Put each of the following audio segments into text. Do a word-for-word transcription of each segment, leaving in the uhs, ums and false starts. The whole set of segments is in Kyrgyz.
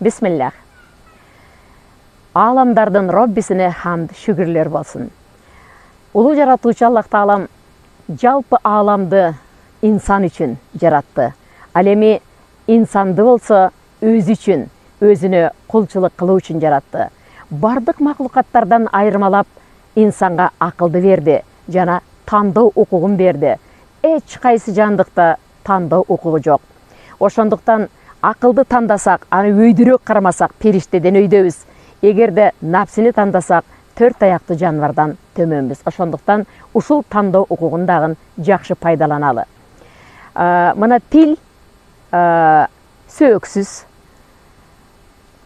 Бисмиллах. Аламдардын Роббисине хамд, шүгүрлөр болсун. Улуу жаратуучу Аллах Таалам жалпы аламды инсан үчүн жаратты. Ал эми инсанды болсо өзү үчүн, өзүнө кулчулук кылуу үчүн жаратты. Бардык маклукаттардан айырмалап инсанга акылды берди жана тандоо укугун берди. Эч кайсы жандыкта тандоо укугу жок. Ошондуктан акылды тандасак, аны өйдүрөөк кармасак, периштеден өйдөбүз. Эгерде напсини тандасак, төрт аяктуу жаныбардан төмөнбүз. Ошондуктан ушул тандоо укугун дагы жакшы пайдаланалы. Мына тил сөөксүз,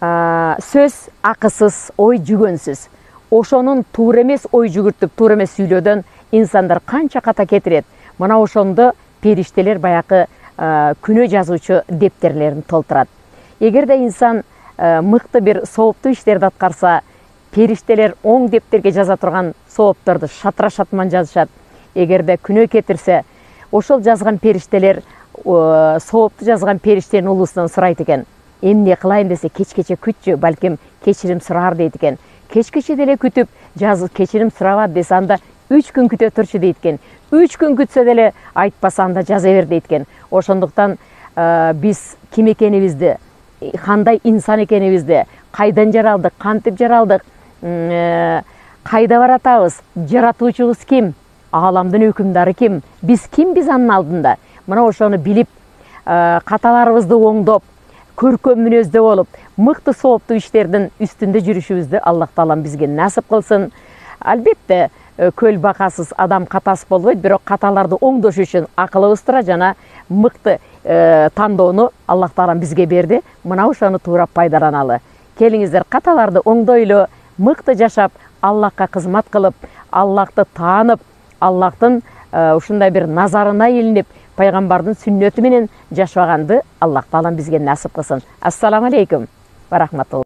сөз акысыз, ой жүгөнсүз. Ошонун туура эмес ой жүгүртүп, туура эмес сүйлөөдөн инсандар канча ката кетирет. Мына ошондо периштелер баякы күнөө жазуучу дептерлерин толтурат. Эгерде инсан мыкты бир сооптуу иштерди аткарса, периштелер оң дептерге жаза турган соопторду шатыра шатман жазышат. Эгерде күнөө кетирсе, ошол жазган периштелер соопту жазган периштенин улуусунан сурайт экен. Эмне кылайын десе, кечкече күтчү, балким кечирим сурар дейт экен. Кечкече деле күтүп, жазып кечирим сурабат десе, анда үч күн күтө турчу дейт экен. үч күн күтсө деле айтпаса, анда жаза бер дейт экен. Ошондуктан биз ким экенибизди, кандай инсан экенибизди, кайдан жаралдык, кантип жаралдык, кайда баратабыз, жаратуучубуз ким, ааламдын өкүмдары ким, биз кимбиз анын алдында. Мына ошону билип, каталарыбызды оңдоп, көркөм мүнөздө болуп, мыкты сооптуу иштердин үстүндө жүрүшүбүздү Аллах Таалам бизге насып кылсын. Албетте, көл бакасыз адам катасы болбойт, бирок каталарды оңдош үчүн акылыбыз тура жана мыкты тандоону Аллах Таалам бизге берди. Мына ошону туура пайдаланалы. Келиңиздер, каталарды оңдойлу, мыкты жашап, Аллахка кызмат кылып, Аллахты таанып, Аллахтын ушундай бир назарына илинип, пайгамбардын сүннөтү менен жашаганды Аллах Таалам бизге насып кылсын. Ассаламу алейкум ва рахматуллах.